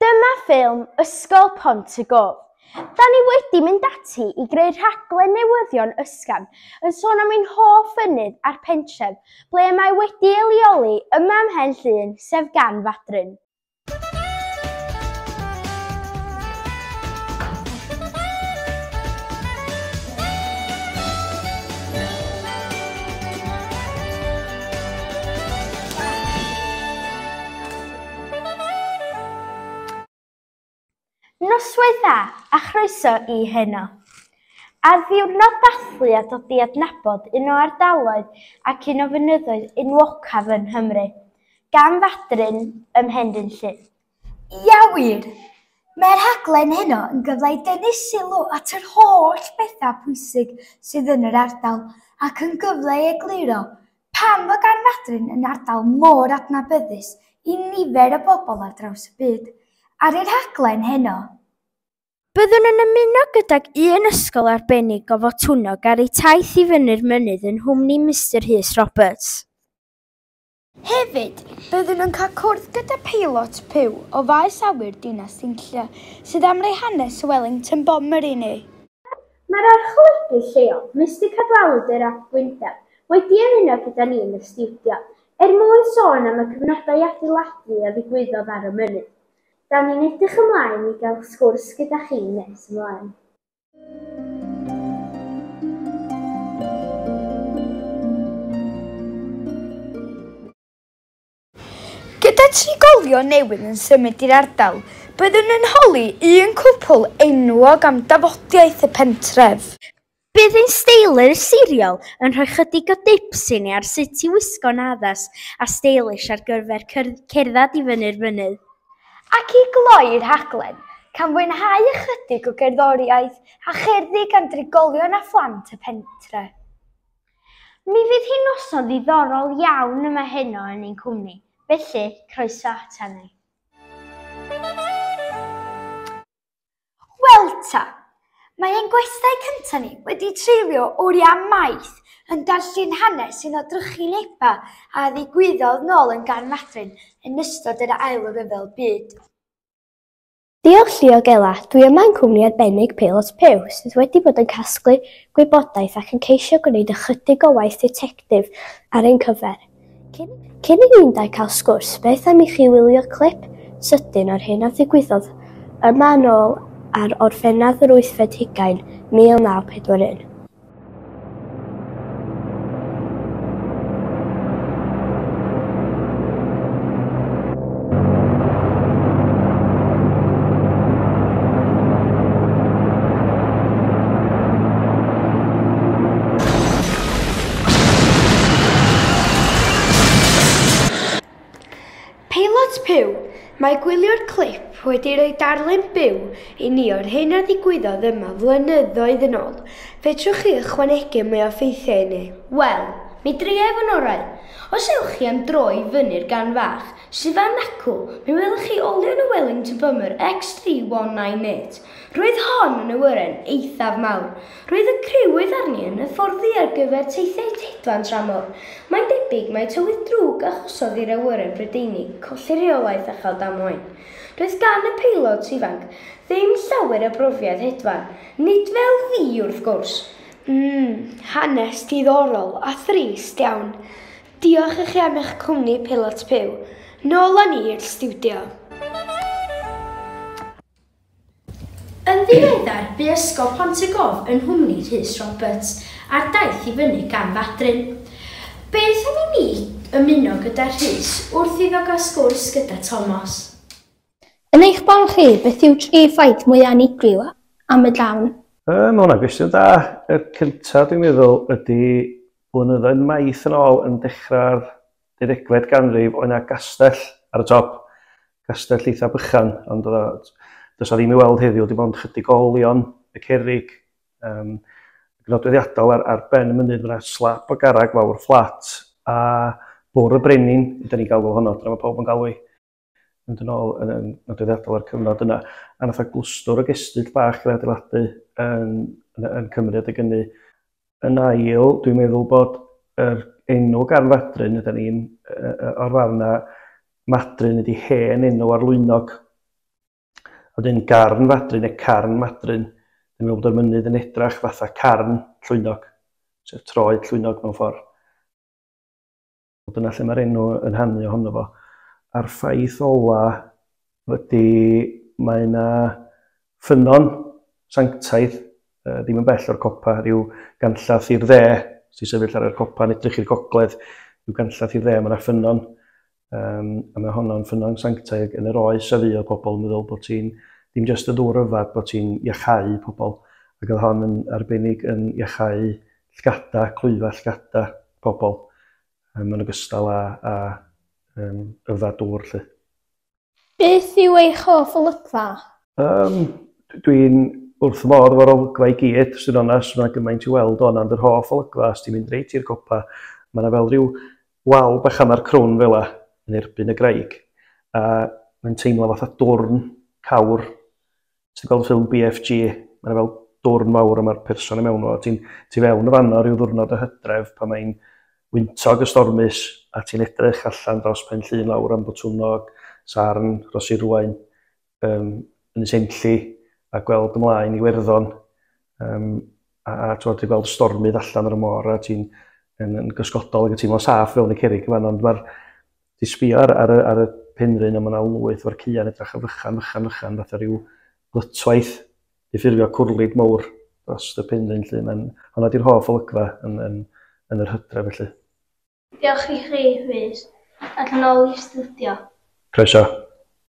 Dyma ffilm Ysgol Pont y Gof. Da ni wedi mynd ati i greu rhaglen newyddion ysgafn yn sôn am ein hoff fynydd a'r pentref ble mae wedi ei leoli yma ym Mhen Llŷn, sef Garn Fadryn. Noswaith dda a chroeso i Heno. Ar ddiwrnod dathlu a dod i adnabod un o ardaloedd ac un o fynyddoedd enwocaf yng Nghymru, gan Fadryn ym Mhenrhyn Llŷn. Ia wir! Mae'r rhaglen heno yn gyfle i dynnu sylw at yr holl bethau pwysig sydd yn yr ardal ac yn gyfle i egluro Pam fod Garn Fadryn yn ardal mor adnabyddus i nifer o bobl ar draws y byd? Ar y rhaglen heno. Byddwn yn ymuno gydag un ysgol arbennig o Fotwnnog ar eu taith i fyny'r mynydd yn nghwmni Mister Rhys Roberts. Hefyd, byddwn yn cael cwrdd gyda peilot Pugh o faes awyr Dinas Dinlle sydd am roi hanes y Wellington Bomber i ni. Mae'r archolygydd lleol, Mister Cadwaladr ap Gwyndaf, wedi ymuno gyda ni yn y stiwdio, er mwyn sôn am y cyfnodau adeiladu a ddigwyddodd ar y mynydd. Da ni'n edrych ymlaen i gael sgwrs gyda chi nes ymlaen. Gyda trigolion newydd yn symud i'r ardal, byddwn yn holi un cwpl enwog am dafodiaith y pentref. Bydd ein steilyr siriol yn rhoi chydig o dips i ni ar sut i wisgo'n addas a steilish ar gyfer cerdded i fyny'r mynydd. Ac i gloi'r rhaglen, cawn fwynhau ychydig o gerddoriaeth a cherddi gan drigolion a phlant y pentre. Mi fydd hi'n noson ddiddorol iawn yma heno yn ein cwmni, felly croeso ata ni. Wel ta, mae ein gwestai cyntaf ni wedi treulio oriau maith yn darllen hanes un o drychinebau a ddigwyddodd nôl yn Garn Madryn yn ystod yr Ail Ryfel Byd. Diolch Llio Ela, dwi yma yn cwmni arbennig Peilot Pugh sydd wedi bod yn casglu gwybodaeth ac yn ceisio gwneud ychydig o waith ditectif ar ein cyfer. Cyn, cyn i ni'n dau cael sgwrs, beth am i chi wylio clip sydyn o'r hyn a ddigwyddodd yma yn ôl ar Orffennaf yr wythfed hugain, 1941. Peilot Pugh, Mae gwylio'r clip wedi rhoi darlun byw i ni o'r hyn a ddigwyddodd yma flynyddoedd yn ôl. Fedrwch chi ychwanegu mwy o ffeithiau i ni? Wel, mi dria i fy ngorau. Os ewch chi am dro i fyny'r Garn Fach, sydd fan acw, mi welwch chi olion y Wellington Bomber X3198. Roedd hon yn awyren eithaf mawr. Roedd y criw oedd arni yn hyfforddi ar gyfer teithiau hedfan tramor. Mae'n debyg mai tywydd drwg achosodd i'r awyren Brydeinig colli rheolaeth a chael damwain. Doedd gan y peilot ifanc ddim llawer o brofiad hedfan, nid fel fi wrth gwrs. Hanes diddorol a thrist iawn. Diolch i chi am eich cwmni, Peilot Pugh. Nôl â ni i'r stiwdio. Yn ddiweddar, bu Ysgol Pont y Gof yn nghwmni Rhys Roberts ar daith i fyny gan Fadryn. Beth am i ni ymuno gyda Rhys wrth iddo gael sgwrs gyda Tomos? Yn eich barn chi, beth yw tri ffaith mwyaf unigryw am y darn? Yy, mae hwnna'n gwestiwn da. Y cyntaf dwi'n meddwl ydy blynyddoedd maith yn ôl yn dechrau'r deuddegfed ganrif oedd 'na gastell ar y top. Castell eitha bychan, ond oedd o, does 'na ddim i weld heddiw, dim ond chydig o olion y cerrig. Um, nodweddiadol ar, ar ben y mynydd, mae yna slap o garreg fawr fflat a bwr y brenin, ydyn ni'n galw honno, dyna mae pawb yn galw i. Mynd yn ôl yn, yn nodweddiadol ar cyfnod yna. A nath o glwstwr o gestyll bach gael ei adeiladu yn, yn, yn Cymru adeg hynny. Yn ail, dwi'n meddwl bod yr enw Garn Fadryn, ydyn ni'n o'r farn na Madryn ydy hen enw ar Lwynog. A wedyn Garn Fadryn neu Carn Madryn, dwi'n meddwl bod yr mynydd yn edrach fatha carn llwynog, sef troed llwynog mewn ffordd. Dyna lle mae'r enw yn hanu ohono fo. A'r ffaith ola ydy mae yna ffynnon sanctaidd, ddim yn bell o'r copa, rhyw ganllath i'r dde, sy'n sefyll ar y copa yn edrych i'r gogledd, rhyw ganllath i'r dde, mae yna ffynnon. A mae honno'n ffynnon sanctaidd yn yr oes a fu o pobl yn meddwl bod ti'n, ddim jyst y ddŵr yfad, bod ti'n iachau pobl. Ac oedd hon yn arbennig yn iachau llgada, clwyfa llgada pobl, yn ogystal â yfad dŵr, lly. Beth yw eich hoff olygfa? Dwi'n wrth fy modd efo'r olygfa i gyd, sy'n onest, mae'n gymaint i weld o'n, ond yr hoff olygfa, os ti'n mynd reit i'r copa, mae yna fel rhyw wal bach am ar crwn fel yn erbyn y graig, a mae'n teimlo fatha dwrn cawr. Ti'n gweld ffilm BFG, mae'n fel dwrn mawr a mae'r person i mewn o. Ti'n ti fewn y fanno rhyw ddwrnod o hydref pan mae'n wyntog y stormus a ti'n edrych allan dros Pen Llŷn lawr am Botwnnog, Sarn, Rhosirwaun, Ynys Enlli a gweld ymlaen i Iwerddon. A ti'n gweld stormydd allan ar y môr a ti'n yn gysgodol ac yn teimlo'n saff fewn y cerrig yma, ond mae'r ti sbio ar y penrhyn a mae yna lwyth o'r caeau'n edrych yn fychan, fychan, fychan, fatha rhyw glytwaith i ffurfio cwrlid mawr dros y penrhyn, lly. Mae'n, hwnna di'r hoff olygfa yn yr hydref, felly. Diolch i chi, Rhys. Ac yn ôl i'r stiwdio. Croeso.